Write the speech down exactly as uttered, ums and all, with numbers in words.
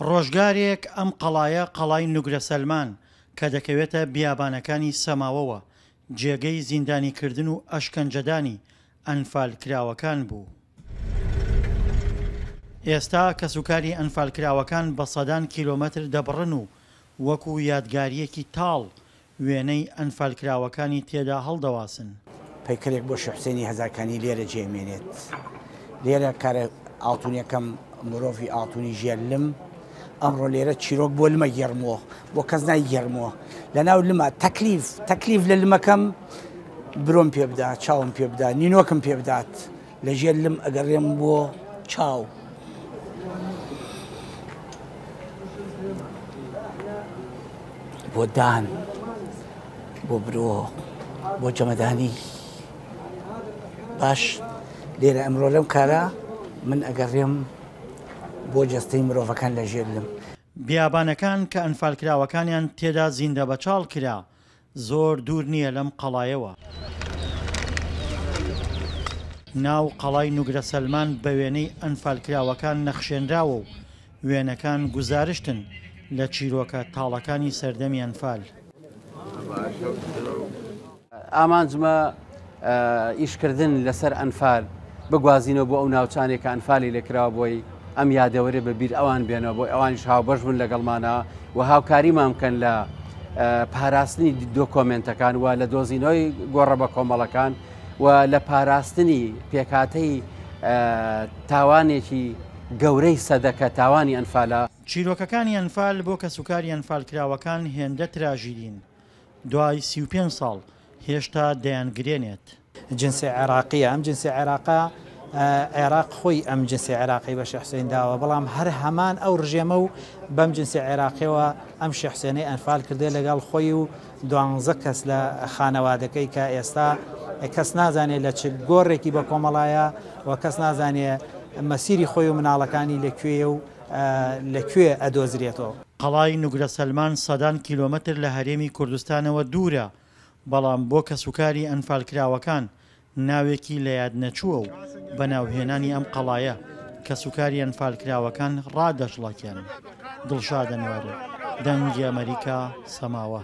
ڕۆژگارێک ئەم قەڵایە قەڵای نوگرە سەلمان کە دەکەوێتە بیابانەکانی سەماوەوە جێگەی زیندانیکردن و ئەشکەنجەدانی ئەنفالکراوەکان بوو. ئێستا کەسوکاری ئەنفالکراوەکان بە سەدان کیلۆمەتر دەبڕن و وەکو یادگاریەکی تاڵ وێنەی ئەنفالکراوەکانی تێدا هەڵدەواسن. پەیکەرێک بۆ شێخ حوسێنی هەزارکانی لێرە جێمێنێت. لێرە کارە ئاڵتونیەکەم مرۆڤی ئاڵتونی ژێر لم ئەمڕۆ لێرە چیرۆک بۆ لمە گێڕمەوە، بۆ کەس نایگێڕمەوە. لەناو لمە تەکلیف تەکلیف لە لمەکەم برۆم پێ بدا، چاوم پێ بدا، نینۆکم پێ بدات. لە ژێر لم ئەگەڕێم بۆ چاو. بۆ دان، بۆ برۆ، بۆ جەمەدانی. باش لێرە ئەمڕۆ لەم کارە من ئەگەڕێم بۆ جەستەی مرۆڤەکان لە ژێر لم. بیابانەکان کە ئەنفالکراوەکانیان تێدا زیندە بەچاڵ کرا زۆر دوور نییە لەم قەڵایەوە. ناو قەڵای نوگرە سەلمان بە وێنەی ئەنفالکراوەکان نەخشێنراوە و وێنەکان گوزارشتن لە چیرۆکە تاڵەکانی سەردەمی ئەنفال. ئامانجمە ئیشکردن لەسەر ئەنفال بگوازینەوە بۆ ئەو ناوچانێک کە ئەنفالی لێکراوە بۆی ئەم یادەوەرێ بە بیر ئەوان بێنەوە، بۆی ئەوانیش هاوبەش بوون لەگەڵمانە و هاوکاریمان بکەن لە پاراستنی دۆکۆمنتەکان و لە دۆزینەوەی گۆڕە بە کۆمەڵەکان و لە پاراستنی پێکاتەی تاوانێکی گەورەی سەدەکە، تاوانی ئەنفالە. چیرۆکەکانی ئەنفال بۆ کەسوکاری ئەنفالکراوەکان هێندە تراژیدین، دوای سی و پێنج ساڵ هێشتا دەیانگرێنێت. جنسی عێراقیە، ئەم جنسی عێراقە عێراق خۆی ئەم جنسی عێراقی بە شێخ حوسێن داوە، بەڵام هەر هەمان ئەو ڕژێمە و بەم جنسی عێراقیەوە ئەم شێخ حوسێنەی ئەنفال کردێ لەگەڵ خۆی و دوانزە کەس لە خانەوادەکەی کە ئێستا کەس نازانێت لە چ گۆڕێکی بە کۆمەڵایە و کەس نازانێت مەسیری خۆی و مناڵەکانی لەکوێیە و لەکوێ ئەدۆزرێتەوە. قەڵای نوگرە سەلمان سەدان کیلۆمەتر لە هەرێمی کوردستانەوە دوورە، بەڵام بۆ کەسوکاری ئەنفالکراوەکان ناوێکی لە یاد نەچووە و بە ناوهێنانی ئەم قەڵایە کەسوکاری ئەنفالکراوەکان ڕادەشڵەکێن. دڵشاد ئەنوەر، دەنگی ئەمریکا، سەماوە.